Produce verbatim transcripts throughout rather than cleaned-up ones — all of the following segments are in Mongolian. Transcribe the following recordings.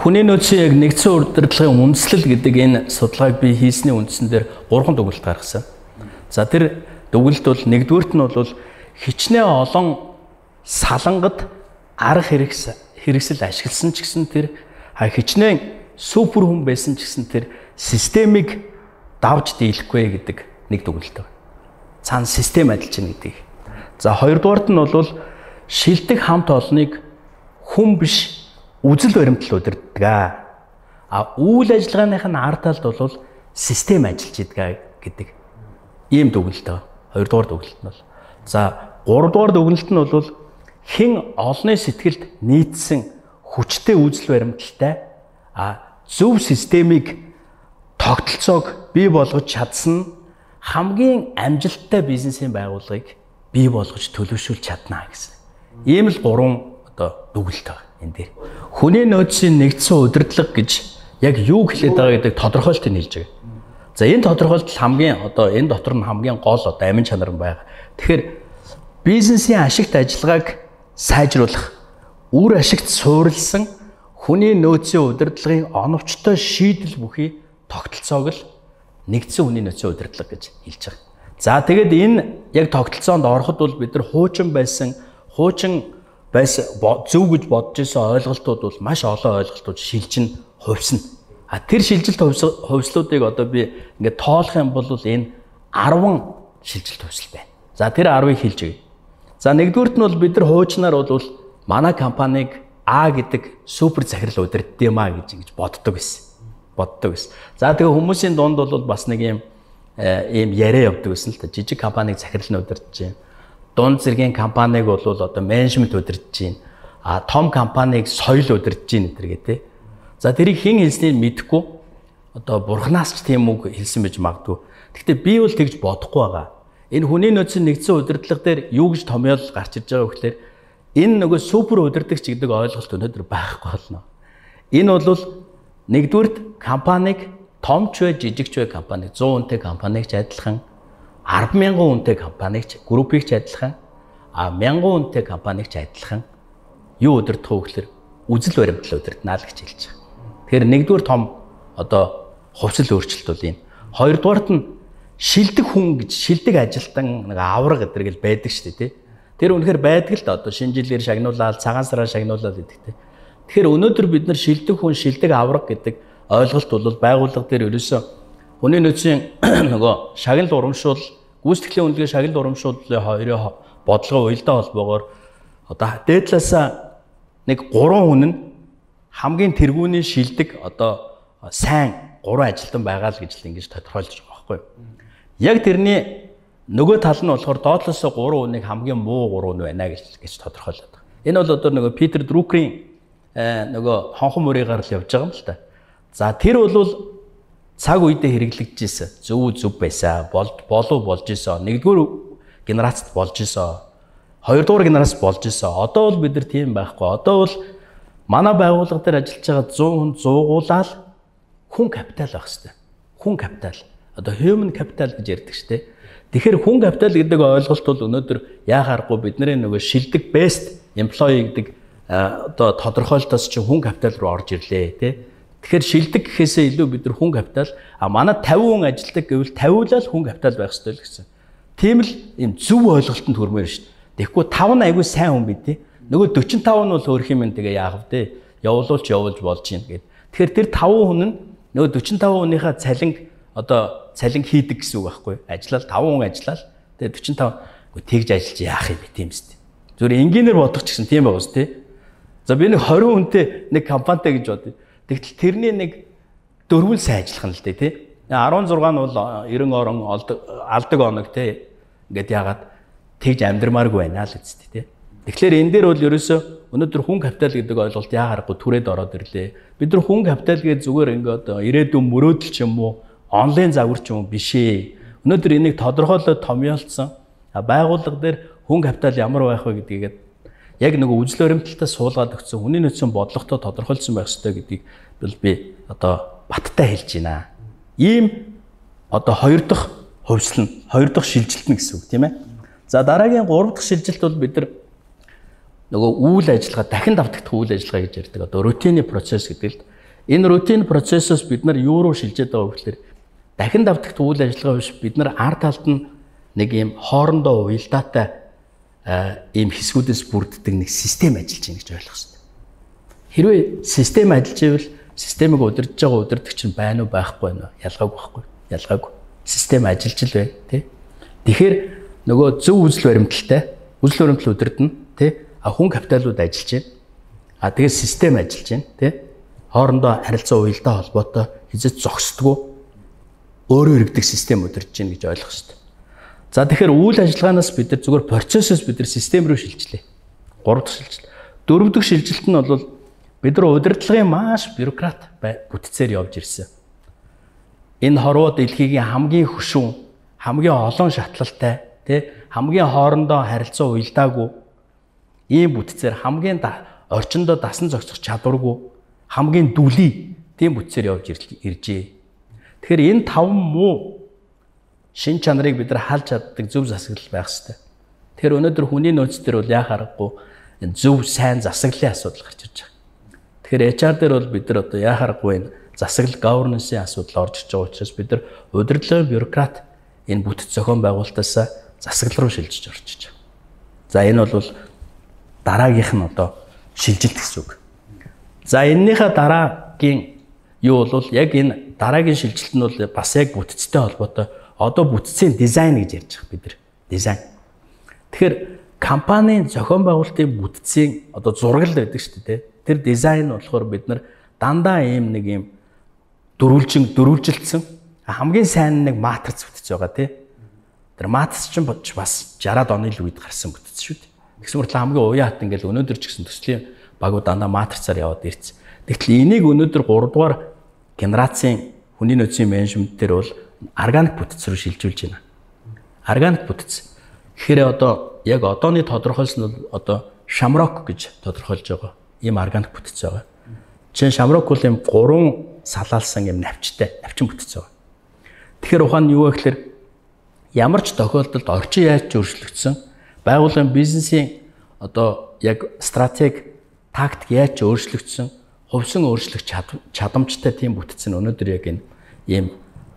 Хүний нөөцийн яг нэгдсэн удирдлагын үндэслэл гэдэг энэ судалгааг би хийсний үндсэн дээр гурван дүгнэлт гаргасан. За тэр дүгнэлт бол нэгдүгüүрт нь бол хичнээн олон салангад арга хэрэгс хэрэгсэл ашигласан ч гэсэн тэр хичнээн супер хүн байсан ч гэсэн тэр системийг давж дийлэхгүй гэдэг нэг дүгнэлт байна. Цаана систем ажиллаж байна гэдэг. За хоёрдугаарт нь бол шилдэг хамт олныг хүн биш үзэл баримтлал удирддаг. А үйл ажиллагааных нь ард талд бол систем ажиллаж идэг гэдэг ийм дүгнэлт байна. Хоёрдугаар дүгнэлт нь бол. За гуравдугаар дүгнэлт нь бол хэн олонний сэтгэлд нийцсэн хүчтэй үзэл баримталтай а зөв системийг тогтолцоог бий болгож чадсан хамгийн амжилттай бизнесийн байгууллагыг бий болгож төлөвшүүлж чадна гэсэн. Ийм л гурван одоо дүгнэлт байна энэ дээр. Хүний нөөцийн нэгдсэн удирдлага гэж яг юу хэлээд байгаа гэдэг тодорхойлтыг хэлж байгаа. За энэ тодорхойлолт хамгийн одоо энэ дотор нь хамгийн гол одоо амин чанар нь байгаа. Тэгэхээр бизнесийн ашигт ажиллагааг сайжруулах, үр ашигт суурилсан хүний нөөцийн удирдлагын оновчтой шийдэл бүхий тогтолцоог л нэгдсэн хүний нөөцийн удирдлага гэж хэлж байгаа. За тэгээд энэ яг тогтолцоонд ороход бол бид нар хуучин байсан, хуучин байсан зөв гэж бодож исэн ойлголтууд бол маш олон ойлголтууд шилжин хувьсна. А тэр шилжилт хувьслуудыг одоо би ингээд тоолох юм бол энэ арван шилжилт хувьсэл байна. За тэр арвыг хэлж өгье. За нэгдүгüүрт нь бол бид нар хуучнаар бол манай компанийг А гэдэг супер захирал удирддаг юм а гэж ингэж боддог байсан. Боддог байсан. За тэгээ хүмүүсийн дунд бол бас нэг юм ийм яриа явдаг байсан л та. Жижиг компанийг захирал нь удирдах чинь. Дунд зэргийн компанийг бол одоо менежмент удирдах чинь. А том компанийг соёл удирдах чинь гэдэг тий. За тэрийг хэн хэлснийг мэдэхгүй. Одоо бурхнаас ч тийм үг хэлсэн байж магадгүй. Гэхдээ би бол тэгж бодохгүй байгаа. Энэ хүний нөөцийн нэгдсэн удирдлага дээр юу гэж томьёол гарч ирж байгаа вэ гэхээр энэ нөгөө супер удирдагч гэдэг ойлголт өнөөдөр байхгүй болно. Энэ бол нэгдүгüүрт компанийг том ч бай жижиг ч бай компанийг зуун хүнтэй компанийг ч адилхан арван мянган хүнтэй компанийг ч группийг ч адилхан а мянган хүнтэй компанийг ч адилхан юу удирдах вэ гэхээр үзэл баримтлал удирдана л гэж хэлж байгаа. Тэгэхээр нэгдүгээр том одоо хувьсэл өөрчлөлт бол энэ. Хоёрдугаарт нь шилдэг хүн гэж шилдэг ажилтан нэг авраг гэдэг л байдаг шүү дээ тий. Тэр үнэхээр байдаг л да одоо шинэ жилээр шагнуулаад цагаан сараар шагнуулаад гэдэг тий. Тэгэхээр өнөөдөр бид нар шилдэг хүн шилдэг авраг гэдэг ойлголт бол байгууллага дээр ерөөсөө хүний нөөцийн нөгөө шагнал урамшуул гүйцэтгэлийн үнэлгээ шагнал урамшууллын хоёрын бодлогын уялдаа холбоогоор одоо дээд талаасаа нэг гурван хүн нь хамгийн тэргүүний шилдэг одоо сайн гурван ажилтан байгаа л гэж л ингэж тодорхойлж байгаа байхгүй юу. Яг тэрний нөгөө тал нь болохоор доотлоос гурван хүнийг хамгийн муу гурван байна гэж гэж тодорхойлоод байгаа. Энэ бол одоо нөгөө Питер Друкерийн нөгөө хонхон мөрөөр л явж байгаа юм л та. За тэр бол цаг үедээ хэрэглэгдэж ирсэн. Зөв зөв байсан. Болд болов болж исэн. Нэгдүгээр генерацид болж исэн. Хоёрдугаар генерацид болж исэн. Одоо бол бид нар тийм байхгүй. Одоо бол манай байгууллага дээр ажиллаж байгаа зуун хүн зуугуулаад хүн капитал байх хэрэгтэй. Хүн капитал. Одоо human capital гэж ярьдаг шүү дээ. Тэгэхээр хүн капитал гэдэг ойлголт бол өнөөдөр яахааргүй бидний нөгөө шилдэг best employee гэдэг одоо тодорхойлолтоос чинь хүн капитал руу орж ирлээ тий. Тэгэхээр шилдэг гэхээсээ илүү бид нар хүн капитал а манай тавин хүн ажилладаг гэвэл тавиулал хүн капитал байх ёстой л гэсэн. Тийм л юм зөв ойлголтод хүрмээр шүү дээ. Тэгэхгүй таван айгүй сайн хүн бид тий. Нөгөө дөрвөн таван нь бол хөөх юм тэгээ яах вэ? Явуулуулч явуулж болж гин гэд. Тэгэхээр тэр таван хүн нь нөгөө дөрвөн таван хүнийхээ цалинг одоо цалин хийдэг гэсэн үг байхгүй юу? Ажиллал таван хүн ажиллал. Тэгээ дөрвөн таван тэгж ажиллаж яах юм бэ тийм үст. Зүгээр инженеэр бодох ч гэсэн тийм байгаа үст тий. За би нэг двадцать хүнтэй нэг компанитай гэж бодъё. Тэгтэл тэрний нэг дөрвөн сайн ажиллах нь л дээ тий. десять шесть нь бол найман орон алдаг оног тий. Ингээд яагаад тэгж амьдрмааргүй байна л үст тий. Тэгэхээр энэ дээр бол ерөөсөө өнөөдөр хүн капитал гэдэг ойлголт яагарахгүй түрээд ороод ирлээ. Бид нар хүн капитал гэж зүгээр ингээд ирээдүйн мөрөөдөл ч юм уу онлайн загвар ч юм уу биш ээ. Өнөөдөр энийг тодорхойлоод томьёолцсон байгууллага дээр хүн капитал ямар байх вэ гэдгийг яг нэг үзэл баримталтай суулгаад өгсөн хүний нөөцийн бодлоготой тодорхойлсон байх ёстой гэдгийг би одоо баттай хэлж байна. Ийм одоо хоёр дахь хувьсэл нь, хоёр дахь шилжилт нь гэсэн үг тийм ээ. За дараагийн гурав дахь шилжилт бол бид нар нөгөө үйл ажиллагаа дахин давтагдах үйл ажиллагаа гэж ярьдаг. Одоо рутины процесс гэдэг л Энэ рутин процессоос бид нар юу руу шилжээд байгаа вэ гэхээр дахин давтагт үйл ажиллагаа биш бид нар ард талд нь нэг юм хоорондоо уялдаатай ийм хэсгүүдээс бүрддэг нэг систем ажиллаж байна гэж ойлгох хэрэгтэй. Хэрвээ систем ажиллаж ивэл системийг удирдах байгаа удирдагч нь байна уу байхгүй байна уу? Ялгаагүй байхгүй. Ялгаагүй. Систем ажиллаж л байна, тий. Тэгэхээр нөгөө зөв үзэл баримталтай, үзэл баримтлал удирдна, тий. А хүн капиталууд ажиллаж байна. А тэгээд систем ажиллаж байна, тий. Хоорондоо харилцаа уялдаа холбоотой хязгаарч зогсдгүй өөрөө иргэдэг систем удирдах гэж гэж ойлгох хэрэгтэй. За тэгэхээр үйл ажиллагаанаас бид нар зүгээр процессоос бид нар систем рүү шилжлээ. Гурав дахь шилжилт. Дөрөв дахь шилжилт нь бол бид нар удирдлагын маш бюрократ бүтцээр явж ирсэн. Энэ хорвоо дэлхийн хамгийн хөшүүн, хамгийн олон шатлалтай, тий хамгийн хоорондоо харилцаа уялдаагүй ийм бүтцээр хамгийн орчиндөө дасан зохицох чадваргүй хамгийн дүлий тийм бүтцээр явж иржээ. Тэгэхээр энэ таван муу шин чанарыг бид нар халж чаддаг зөв засаглал байх хэрэгтэй. Тэгэхээр өнөөдөр хүний нөөц төр бол яа харахгүй зөв сайн засаглалын асуудал гарч ирж байгаа. Тэгэхээр эйч ар дээр бол бид нар одоо яа харахгүй энэ засаглал governance-ийн асуудал орж ирж байгаа учраас бид нар удирдлагын бюрократ энэ бүтэц зохион байгуулалтаас засаглал руу шилжиж орж иж байгаа. За энэ бол дараагийнх нь одоо шилжилт гэсэн үг. За энэнийхээ дараагийн юу бол яг энэ дараагийн шилжилт нь бол бас яг бүтцтэй холбоотой. Одоо бүтцийн дизайн гэж ярьж байгаа бид нар. Дизайн. Тэгэхээр компанийн зохион байгуулалтын бүтцийн одоо зураг л байдаг шүү дээ. Тэр дизайн болохоор бид нар дандаа ийм нэг ийм дөрвөлжин дөрвөлжилсэн хамгийн сайн нэг матриц бүтц байгаа тий. Тэр матриц чинь бас шараад оны л үед гарсан бүтц шүү дээ. Тэгсэн мөртлөө хамгийн уян хат ингээл өнөөдөр ч гэсэн төслийн багууд дандаа матрицаар яваад ирсэн. Тэгтэл энийг өнөөдөр гурав дугаар генерацийн хүний нөөцийн менежмент дээр бол органик бүтц рүү шилжүүлж байна. Органик бүтц. Тэгэхээр одоо яг одооны тодорхойлсон нь одоо шамрок гэж тодорхойлж байгаа. Ийм органик бүтц байгаа. Жишээ нь шамрок бол ийм гурван салаалсан ийм навчтай, навчин бүтц байгаа. Тэгэхээр ухаан нь юу вэ гэхээр ямар ч тохиолдолд орчин яаж ч өөрчлөгдсөн, байгууллагын бизнесийн одоо яг стратеги, тактик яаж ч өөрчлөгдсөн, хувьсан өөрчлөх чадамжтай тийм бүтц нь өнөөдөр яг энэ ийм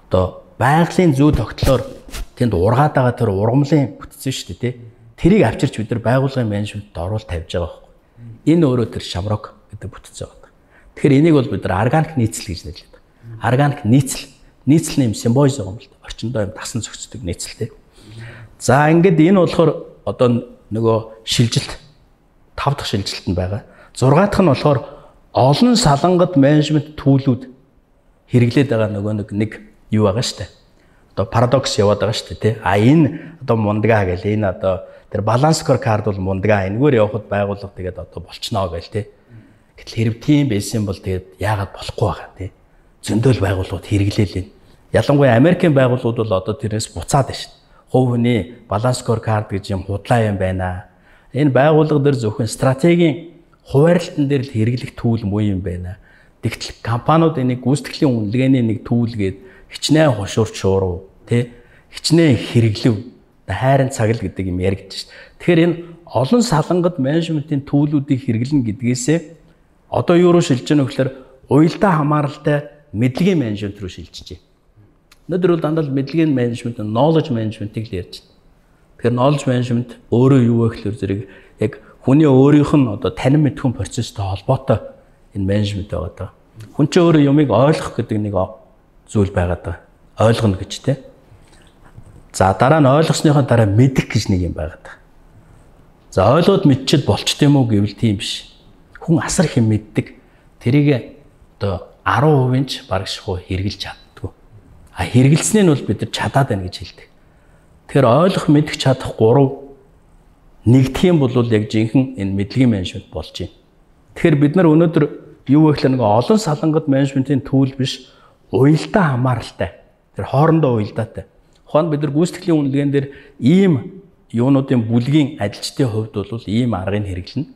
одоо байгалийн зүй тогтлоор тэнд ургаад байгаа тэр ургамлын бүтц шүү дээ тий. Тэрийг авчирч бид нар байгууллагын менежментэд оруулалт тавьж байгаа байхгүй. Энэ өөрөө тэр шамрок гэдэг бүтц байгаа. Тэгэхээр энийг бол бид нар органик нийцэл гэж нэрлэдэг. Органик нийцэл, нийцэл нэм симбиоз байгаа юм л да. Орчиндөө юм дасан зохицдог нийцэл тий. За ингээд энэ болохоор одоо нөгөө шилжилт тав дахь шилжилт нь байгаа. зургаа дахь нь болохоор олон салангад менежмент төлөвлүүд хэрэглээд байгаа нөгөө нэг нэг юу байгаа шүү дээ. Одоо парадокс яваад байгаа шүү дээ тий. А энэ одоо мундгаа гэл энэ одоо тэр баланс скоркард бол мундгаа энэгээр явахад байгууллага тэгээд одоо болчихноо гэл тий. Гэтэл хэрэг тийм байсан бол тэгээд яагаад болохгүй байгаа тий. Зөндөл байгууллагууд хэрэглээл энэ. Ялангуяа Америкийн байгууллагууд бол одоо тэрнээс буцаад байна шүү дээ. Хувь хүний баланс скоркард гэж юм худлаа юм байна. Энэ байгууллага дээр зөвхөн стратегийн хуваарлтан дээр л хэрэглэх түүл муу юм байна. Тэгтэл компаниуд энийг гүйцэтгэлийн үнэлгээний нэг түүлгээд хичнээн хушуурч шууруу тий хичнээн хэрэглэв хайрын цагл гэдэг юм яригдж шээ. Тэгэхээр энэ олон салангад менежментийн түүлүүдийг хэрэглэнэ гэдгээсээ одоо юу руу шилжиж байгаа вэ гэхээр уялдаа хамааралтай мэдлэгийн менежмент рүү шилжиж байна. Өнөөдөр бол дандаа мэдлэгийн менежмент, knowledge management-ийг л ярьж байна. Тэгэхээр knowledge management өөрөө юу вэ гэхээр зэрэг яг хүний өөрийнх нь одоо танин мэдхүн процесстэй холбоотой энэ менежмент байгаа даа. Хүн чинь өөрөө юмыг ойлгох гэдэг нэг зүйл байгаад байгаа. Ойлгоно гэж тий. За дараа нь ойлгосныхоо дараа мэдэх гэж нэг юм байгаад байгаа. За ойлгоод мэдчихэд болчт юм уу гэвэл тийм биш. Хүн асар их юм мэддэг. Тэрийг одоо арван хувийн ч бараг шихуу хэрэгжилж чаддгүй. А хэрэгэлснээ нь бол бид нар чадаад байна гэж хэлдэг. Тэгэхээр ойлгох мэдэх чадах гурав нэгдэх юм бол яг жинхэнэ энэ мэдлэгийн менежмент болж байна. Тэгэхээр бид нар өнөөдөр юу вэ гэхээр нэг олон салангад менежментийн түүл биш уялдаа хамааралтай. Тэр хоорондоо уялдаатай. Ухаанд бид нар гүйцэтгэлийн үнэлгээнд дээр ийм юунуудын бүлгийн ажилчдын хувьд бол ийм аргыг хэрэглэнэ.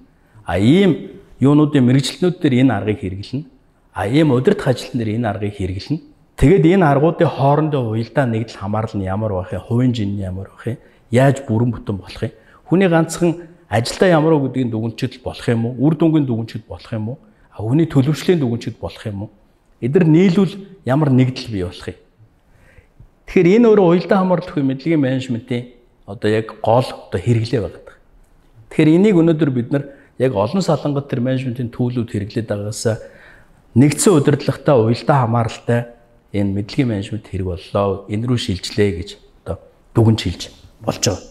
А ийм юунуудын мэрэгчлэнүүд дээр энэ аргыг хэрэглэнэ. А ийм удирдах ажилтан дээр энэ аргыг хэрэглэнэ. Тэгэд энэ аргуудын хоорондоо уялдаа нэгдэл хамаарал нь ямар байх юм, хувийн жин нь ямар байх юм, яаж бүрэн бүтэн болох юм. Хүний ганцхан ажилдаа ямар уу гэдгийг дүгнчил болох юм уу? Үр дүнгийн дүгнчил болох юм уу? А хүний төлөвшлийн дүгнчил болох юм уу? эдгээр нийлүүл ямар нэгдэл бий болох юм. Тэгэхээр энэ өөрөө уялдаа хамгаалалт буюу мэдлэгийн менежментийн одоо яг гол одоо хэрэглээ байгаа. Тэгэхээр энийг өнөөдөр бид нар яг олон салангат төр менежментийн төлөвлөлд хэрэглээд байгаагаас нэгдсэн удирдлагатай уялдаа хамааралтай энэ мэдлэгийн менежмент хэрэг боллоо. Энэ рүү шилжлээ гэж одоо дүгнж хэлж болж байгаа.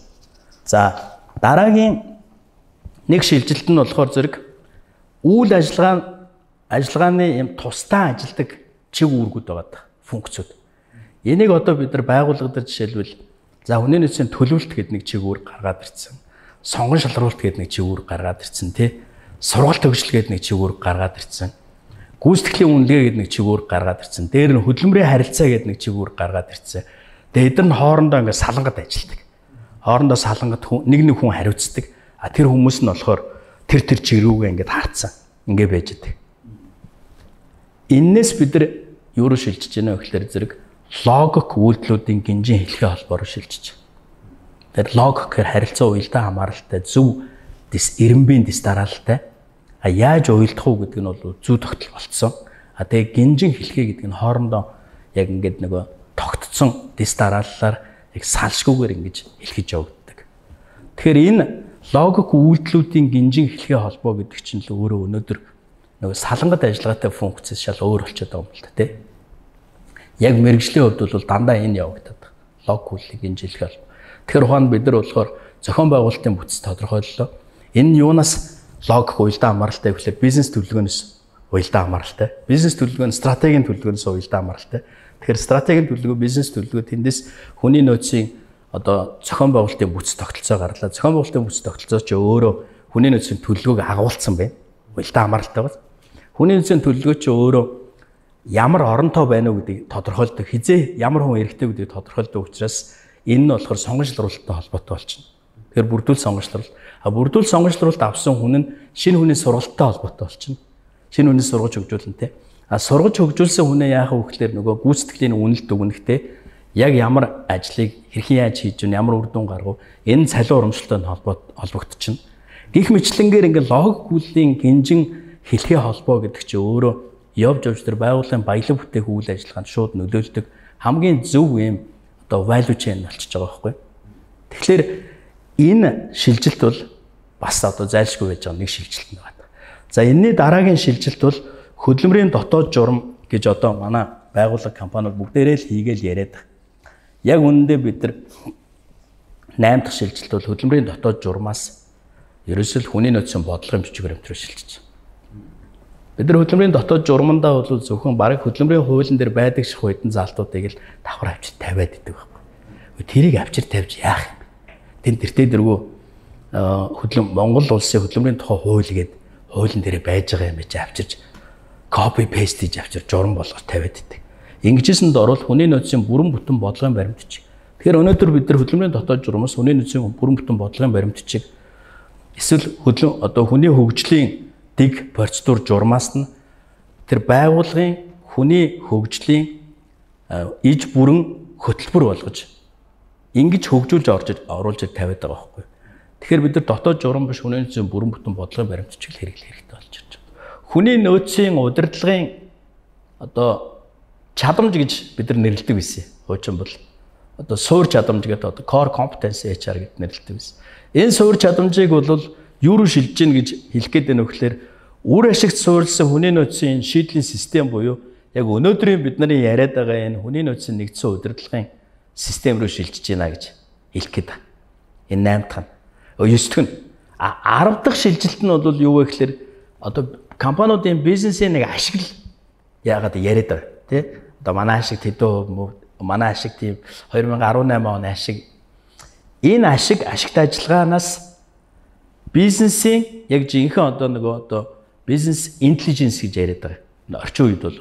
За дараагийн нэг шилжилт нь болохоор зэрэг үйл ажиллагаа ажиллагааны юм тусдаа ажилдаг чиг үүргүүд байгаа функцүүд. Энийг одоо бид нар байгууллагад жишээлбэл за хүний нөөцийн төлөвлөлт гэдэг нэг чиг үүрэг гаргаад ирсэн. Сонгон шалруулалт гэдэг нэг чиг үүрэг гаргаад ирсэн тий. Сургалт төгсөл гэдэг нэг чиг үүрэг гаргаад ирсэн. Гүйцэтгэлийн үнэлгээ гэдэг нэг чиг үүрэг гаргаад ирсэн. Дээр нь хөдөлмөрийн харилцаа гэдэг нэг чиг үүрэг гаргаад ирсэн. Тэгээ эдгээр нь хоорондоо ингээд салангат ажилдаг. Хоорондоо салангат нэг нэг хүн хариуцдаг. А тэр хүмүүс нь болохоор тэр тэр чиг рүүгээ ингээд харцсан. Ингээд байж байгаа. Иннээс бид нар юу руу шилжиж байна вэ гэхээр зэрэг логик үйлдэлүүдийн гинжин хэлхээ холбоор шилжиж. Тэр логик гэхээр харилцаа уялдаа хамааралтай зөв дэс эренбийн дэс дараалалтай. А яаж уялдах уу гэдэг нь бол зүй тогтол болцсон. А тэгээ гинжин хэлхээ гэдэг нь хоорондоо яг ингээд нөгөө тогтцсон дэс дарааллаар яг салшгүйгээр ингэж хэлхэж явагддаг. Тэгэхээр энэ логик үйлдэлүүдийн гинжин хэлхээ холбоо гэдэг чинь л өөрөө өнөөдөр нөгөө салангат ажиллагаатай функцэс шал өөр болчиход байгаа юм л та тий. Яг мэрэгжлийн хувьд бол дандаа энэ явагдаад байна. Логик үйлдлийн гинжин хэлхээ холбоо. Тэгэхээр ухаанд бид нар болохоор зохион байгуулалтын бүтц тодорхойллоо. Энэ нь юунаас логик уялдаа хамааралтай гэхлээр бизнес төлөвлөгөөнөөс уялдаа хамааралтай. Бизнес төлөвлөгөө нь стратегийн төлөвлөгөөнөөс уялдаа хамааралтай. Тэгэхээр стратегийн төлөвлөгөө, бизнес төлөвлөгөө тэндээс хүний нөөцийн одоо зохион байгуулалтын бүтц тогтолцоо гарлаа. Зохион байгуулалтын бүтц тогтолцоо ч өөрөө хүний нөөцийн төлөвлөгөөг агуулсан байна. Уялдаа хамааралтай байна. Хүний нөөцийн төлөвлөгөө ч өөрөө ямар оронтой байна уу гэдгийг тодорхойлдог. Хизээ ямар хүн эрэгтэй гэдгийг тодорхойлдог учраас энэ нь болохоор сонгон шалралттай холбоотой болчихно. Тэгэхээр бүрдүүл сонгон шалралт. А бүрдүүл сонгон шалралт авсан хүн нь шинэ хүний сургалттай холбоотой болчихно. Шинэ хүний сургаж хөгжүүлнэ те. А сургаж хөгжүүлсэн хүнээ яах вэ гэхээр нөгөө гүйцэтгэлийн үнэлт өгнөхтэй яг ямар ажлыг хэрхэн яаж хийж гэнэ, ямар үр дүн гаргав энэ цалин урамшилтай холбогдчихно. Гэх мэтлэнгээр ингээд логик үйлдлийн гинжин хэлхээ холбоо гэдэг чинь өөрөө явж явж тэр байгууллагын баялаг бүтээх үйл ажиллагаанд шууд нөлөөлдөг хамгийн зөв юм одоо value chain болчихж байгаа байхгүй. Тэгэхээр энэ шилжилт бол бас одоо зайлшгүй байж байгаа нэг шилжилт нэг байна. За энэний дараагийн шилжилт бол хөдөлмөрийн дотоод журам гэж одоо манай байгууллага компаниуд бүгдээрээ л хийгээл яриад байгаа. Яг үнэндээ бид нар найм дахь шилжилт бол хөдөлмөрийн дотоод журмаас ерөөсөл хүний нөөцийн бодлогын бичгээр амтруу шилжиж. Бид нар хөдөлмөрийн дотоод журмандаа бол зөвхөн бараг хөдөлмөрийн хуулийн дээр байдаг шиг хуучин заалтуудыг л давхар авчир тавиад идэг байхгүй. Тэрийг авчир тавьж яах юм? Тэн тэртээ дэргүү хөдлөм Монгол улсын хөдөлмөрийн тухай хууль гээд хуулийн дээр байж байгаа юм чи авчирч copy paste хийж авчир журам болгож тавиад идэг. Ингэжсэнд орвол хүний нөөцийн бүрэн бүтэн бодлогын баримтчиг. Тэгэхээр өнөөдөр бид нар хөдөлмөрийн дотоод журмаас хүний нөөцийн бүрэн бүтэн бодлогын баримтчиг эсвэл хөдлөм одоо хүний хөгжлийн дэг процедур журмаас нь тэр байгууллагын хүний хөгжлийн иж бүрэн хөтөлбөр болгож ингэж хөгжүүлж орж оруулж тавиад байгаа байхгүй. Тэгэхээр бид нар дотоод журам биш хүний нөөцийн бүрэн бүтэн бодлогын баримтчиг хэрэглэх хэрэгтэй болж байна. Хүний нөөцийн удирдлагын одоо чадамж гэж бид нар нэрлэдэг байсан. Хуучин бол одоо суур чадамж гэдэг одоо core competence эйч ар гэдэг нэрлэдэг байсан. Энэ суур чадамжийг бол юу руу шилжиж гин гэж хэлэх гээд байна вэ гэхээр үр ашигт суурилсан хүний нөөцийн шийдлийн систем буюу яг өнөөдрийн бидний яриад байгаа энэ хүний нөөцийн нэгдсэн удирдлагын систем рүү шилжиж байна гэж хэлэх гээд байна. Энэ найм дахь нь. девять дахь нь. А десять дахь шилжилт нь бол юу вэ гэхээр одоо компаниудын бизнесийн нэг ашиг л яагаад яриад байгаа тий. Одоо манай ашиг тэдөө манай ашиг тийм two thousand eighteen оны ашиг энэ ашиг ашигт ажиллагаанаас бизнесийн яг жинхэнэ одоо нөгөө одоо бизнес интеллиженс гэж яриад байгаа. Орчин үед бол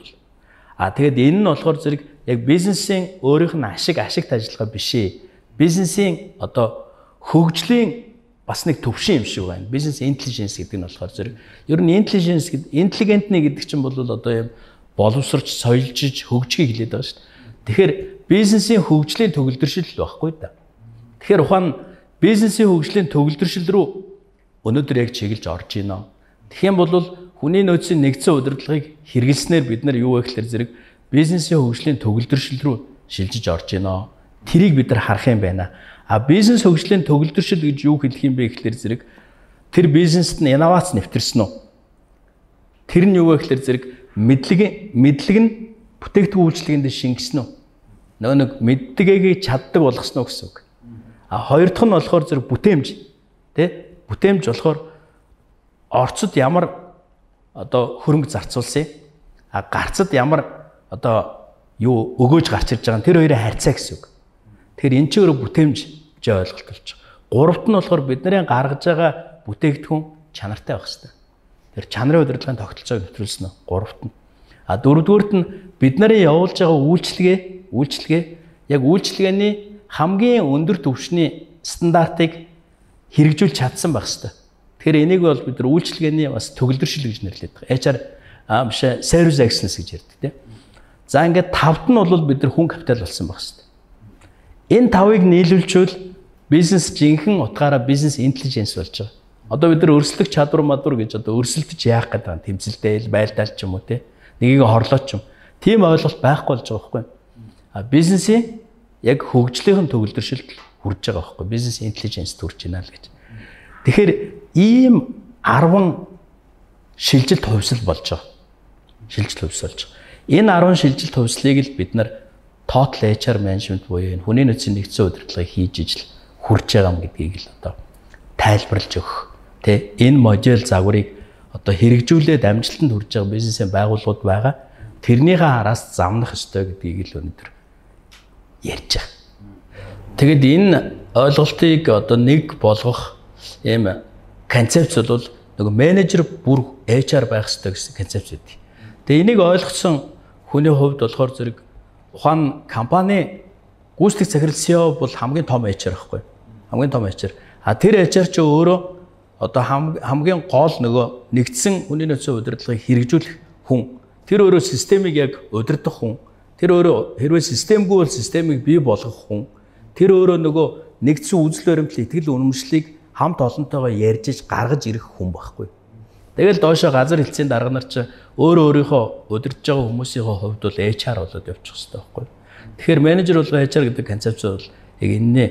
а тэгээд энэ нь болохоор зэрэг яг бизнесийн өөрийнх нь ашиг ашигт ажиллагаа биш ээ. Бизнесийн одоо хөгжлийн бас нэг төвшин юм шиг байна. Бизнес интеллиженс гэдэг нь болохоор зэрэг ер нь интеллиженс гэдэг интеллигентны гэдэг чинь бол одоо юм боловсрч, соёлжиж, хөгжихийг хэлээд байгаа шүү дээ. Тэгэхээр бизнесийн хөгжлийн төгөлдршил байхгүй да. Тэгэхээр ухаан бизнесийн хөгжлийн төгөлдршил рүү өнөөдөр яг чиглэж орж байна. Тэгэх юм бол хүний нөөцийн нэгдсэн удирдлагыг хэрэгэлснээр бид нар юу вэ гэхээр зэрэг бизнесийн хөгжлийн төгөлдршил рүү шилжиж орж байна. Тэрийг бид нар харах юм байна. А бизнес хөгжлийн төгөлдршил гэж юу хэлэх юм бэ гэхээр зэрэг тэр бизнест нь инновац нэвтэрсэн үү? Тэр нь юу вэ гэхээр зэрэг мэдлэг мэдлэг нь бүтээгдэхүүн үйлчлэгэнд шингэсэн үү? Нөгөө нэг мэддэгийг чаддаг болгосноо гэсэн үг. А хоёр дахь нь болохоор зэрэг бүтээмж, тий? Бүтээмж болохоор орцод ямар одоо хөрөнгө зарцуулсан, а гарцад ямар одоо юу өгөөж гарч ирж байгаа нь тэр хоёрын харьцаа гэсэн үг. Тэгэхээр эн чинь өөрөө бүтээмж гэж ойлголт болж байгаа. Гуравт нь болохоор бидний гаргаж байгаа бүтээгдэхүүн чанартай байх хэрэгтэй. Тэр чанарын удирдлагын тогтолцоог нэвтрүүлсэн нь гуравт нь. А дөрөвдүгüүрт нь бид нарын явуулж байгаа үйлчлэгээ, үйлчлэгээ яг үйлчлэгээний хамгийн өндөр түвшний стандартыг хэрэгжүүлж чадсан байх хэрэгтэй. Тэгэхээр энийг бол бид нар үйлчлэгээний бас төгөлдршил гэж нэрлэдэг. эйч ар аа биш service excellence гэж ярьдаг тийм. За ингээд тавд нь бол бид нар хүн капитал болсон байх хэрэгтэй. Энэ тавыг нийлүүлчихвэл бизнес жинхэнэ утгаараа бизнес интеллиженс болж байгаа. Одоо бид нар өрсөлдөх чадвар мадвар гэж одоо өрсөлдөж яах гэдэг юм тэмцэлтэй байлдаал ч юм уу те нэгийг хорлооч юм. Тийм ойлголт байхгүй болж байгаа байхгүй. А бизнесийн яг хөгжлийн төгөлдршилд хүрж байгаа байхгүй. Бизнес интеллиженс төрж байна л гэж. Тэгэхээр ийм арван шилжилт хувьсэл болж байгаа. Шилжилт хувьсэл болж байгаа. Энэ арван шилжилт хувьслыг л бид нар total эйч ар management буюу энэ хүний нөөцийн нэгдсэн удирдлагыг хийж ижил хүрж байгаа юм гэдгийг л одоо тайлбарлаж өгөх. Тэ энэ модуль загварыг одоо хэрэгжүүлээд амжилтанд хүрж байгаа бизнесийн байгууллагууд байгаа. Тэрнийхээ араас замнах ёстой гэдгийг л өнөөдөр ярьж байгаа. Тэгэд энэ ойлголтыг одоо нэг болгох ийм концепц бол нөгөө менежер бүр эйч ар байх ёстой гэсэн концепц үүдэг. Тэгээ энийг ойлгосон хүний хувьд болохоор зэрэг ухаан компани гүйцэтгэх захирал си и о бол хамгийн том эйч ар байхгүй. Хамгийн том эйч ар. А тэр эйч ар ч өөрөө одоо хамгийн гол нөгөө нэгдсэн хүний нөөцийн удирдлагыг хэрэгжүүлэх хүн. Тэр өөрөө системийг яг удирдах хүн. Тэр өөрөө хэрвээ системгүй бол системийг бий болгох хүн. Тэр өөрөө нөгөө нэгдсэн үзэл баримтлал итгэл үнэмшлийг хамт олонтойгоо ярьж иж гаргаж ирэх хүн байхгүй. Тэгэл доошоо газар хэлцээний дарга нар ч өөрөө өөрийнхөө удирдах байгаа хүмүүсийнхээ хувьд бол эйч ар болоод явчих хэрэгтэй байхгүй. Тэгэхээр менежер болго эйч ар гэдэг концепц бол яг энэний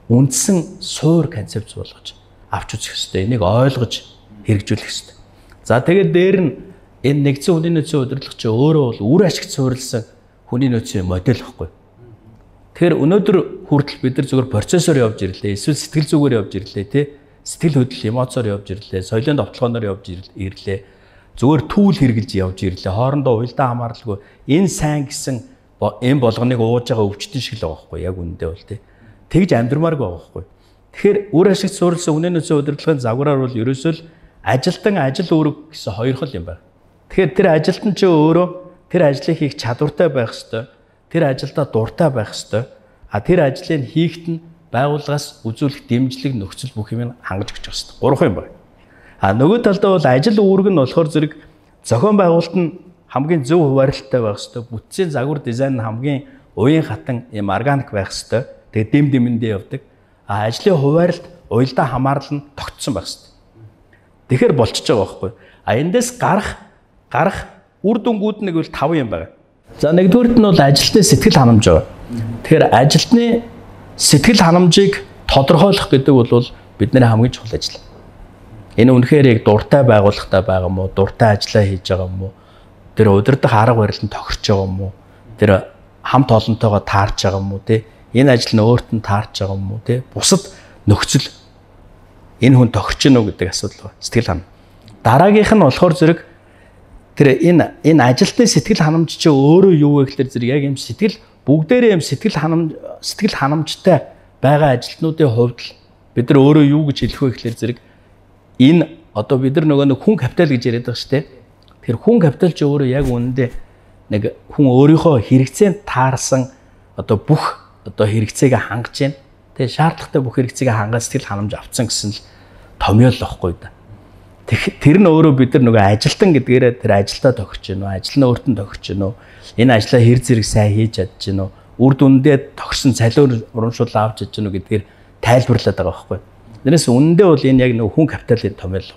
үндсэн суур концепц болгож авч үзэх хэрэгтэй. Энийг ойлгож хэрэгжүүлэх хэрэгтэй. За тэгээд дээр нь энэ нэгдсэн хүний нөөцийн удирдлага чи өөрөө бол үр ашигт суурилсан хүний нөөцийн модель байхгүй. Тэгэхээр өнөөдөр хүртэл бид нар зөвхөн процессор явж ирлээ, эсвэл сэтгэл зүгээр явж ирлээ, тий? Сэтгэл хөдлөл эмоцоор явж ирлээ, соёлын довтлогооноор явж ирлээ. Зүгээр түүл хэрглэж явж ирлээ. Хоорондоо уялдаа хамааралгүй энэ сайн гэсэн энэ болгоныг ууж байгаа өвчтөн шиг л байгаа байхгүй яг үндэ бол тий. Тэгж амьдрмааргүй байгаа байхгүй. Тэгэхээр үр ашигт суурилсан хүний нөөцийн удирдлагын загвараар бол ерөөсөө л ажилтан ажил үүрэг гэсэн хоёр хол юм байна. Тэгэхээр тэр ажилтан ч өөрөө тэр ажлыг хийх чадвартай байх ёстой. Тэр ажилдаа дуртай байх ёстой. А тэр ажлыг хийхэд нь байгууллагаас үзүүлэх дэмжлэг нөхцөл бүх юм хангаж өгч байгаа ёстой. Гурван юм байна. А нөгөө талдаа бол ажил үүрэг нь болохоор зэрэг зохион байгуулалт нь хамгийн зөв хуваарлалтай байх ёстой. Бүтцийн загвар дизайн нь хамгийн уян хатан юм органик байх ёстой. Тэгээ дэм дэмэндээ явдаг. А ажлын хуваарлалт уялдаа хамаарал нь тогтсон байх ёстой. Тэгэхээр болчихж байгаа байхгүй. А эндээс гарах гарах үр дүнгууд нэг бол таван юм байна. За нэгдүгээрт нь бол ажилтны сэтгэл ханамж байгаа. Тэгэхээр ажилтны сэтгэл ханамжийг тодорхойлох гэдэг бол бидний хамгийн чухал ажил. Энэ үнэхээр яг дуртай байгууллагатай байгаа юм уу? Дуртай ажиллаа хийж байгаа юм уу? Тэр удирдах арга барил нь тохирч байгаа юм уу? Тэр хамт олонтойгоо таарч байгаа юм уу те? Энэ ажил нь өөрт нь таарч байгаа юм уу те? Бусад нөхцөл энэ хүн тохирч гэнэ үү гэдэг асуудал байна. Сэтгэл ханамж. Дараагийнх нь болохоор зэрэг тэр энэ энэ ажилтны сэтгэл ханамж чи өөрөө юу вэ гэхээр зэрэг яг юм сэтгэл бүгдээрээ юм сэтгэл ханамж сэтгэл ханамжтай байгаа ажилтнуудын хувьд бид нар өөрөө юу гэж хэлэх вэ гэхээр зэрэг энэ одоо бид нар нөгөө нэг хүн капитал гэж яриад байгаа шүү дээ. Тэр хүн капитал чи өөрөө яг үнэндээ нэг хүн өөрийнхөө хэрэгцээнд таарсан одоо бүх одоо хэрэгцээгээ хангаж байна. Тэгээ шаардлагатай бүх хэрэгцээгээ хангаад сэтгэл ханамж авцсан гэсэн л томьёол واخгүй да. Тэр нь өөрөө бид нар нөгөө ажилтан гэдгээрээ тэр ажилдаа тохирч гэнэ үү, ажил нь өөртөө тохирч гэнэ үү, энэ ажлаа хэр зэрэг сайн хийж чадж гэнэ үү, үр дүндээ тохирсон цалин урамшуул авч чадж гэнэ үү гэдгээр тайлбарлаад байгаа байхгүй. Тэрнээс үнэндээ бол энэ яг нөгөө хүн капиталын томьёол.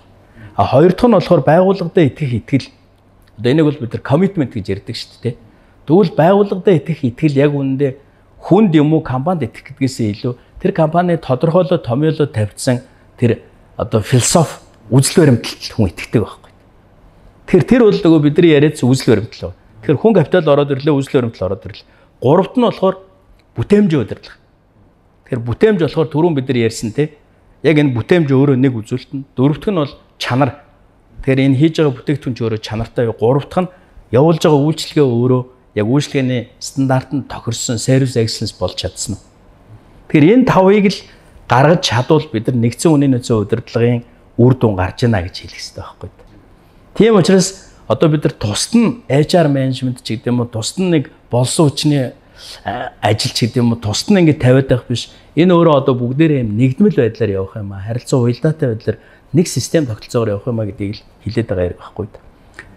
А хоёр дахь нь болохоор байгууллагадаа итгэх итгэл. Одоо энийг бол бид нар commitment гэж ярьдаг шүү дээ. Тэгвэл байгууллагадаа итгэх итгэл яг үүндээ хүнд юм уу компанид итгэх гэдгээсээ илүү тэр компани тодорхойлоо томьёолоо тавьсан тэр одоо философи үзэл баримталд хүн итгэдэг байхгүй. Тэгэхээр тэр бол нөгөө бидний яриад үзэл баримтал байна. Тэгэхээр хүн капитал ороод ирлээ, үзэл баримтал ороод ирлээ. Гуравт нь болохоор бүтээмжийн удирдлага. Тэгэхээр бүтээмж болохоор түрүүн бид нар ярьсан те. Яг энэ бүтээмж өөрөө нэг үзүүлэлт нь. Дөрөвт нь бол чанар. Тэгэхээр энэ хийж байгаа бүтээгдэхүүн ч өөрөө чанартай. Гуравт нь явуулж байгаа үйлчлэгээ өөрөө яг үйлчлэгээний стандартанд тохирсон service excellence болж чадсан нь. Тэгэхээр энэ тавыг л гаргаж чадвал бид нар нэгдсэн үнийн нөөцийн удирдлагын үр дүн гарч ийна гэж хэлэх хэрэгтэй байхгүй. Тийм учраас одоо бид нар тусад нь эйч ар менежмент ч гэдэг юм уу, тусад нь нэг болсон хүчний ажил ч гэдэг юм уу, тусад нь ингэ тавиад байх биш. Энэ өөрөө одоо бүгдээрээ юм нэгдмэл байдлаар явах юм аа. Харилцаа уялдаатай байдлаар нэг систем тогтолцоогоор явах юм аа гэдгийг л хэлээд байгаа юм байхгүй.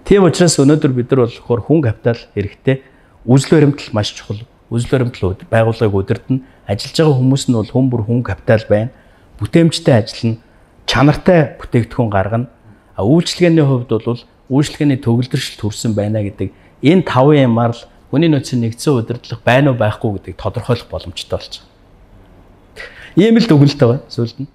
Тийм учраас өнөөдөр бид нар болохоор хүн капитал хэрэгтэй. Үзэл баримтал маш чухал. Үзэл баримтал байгууллагыг удирдна. Ажиллаж байгаа хүмүүс нь бол хүн бүр хүн капитал байна. Бүтээмжтэй ажиллана. Чанартай бүтээгдэхүүн гаргана. А үйлчлэгээний хувьд бол үйлчлэгээний төгөлдрөл төрсэн байна гэдэг энэ тавын юмар л хүний нөөцийн нэгдсэн удирдлага байна уу байхгүй гэдгийг тодорхойлох боломжтой болж байгаа. Ийм л дүгнэлт байгаа. Сүүлд нь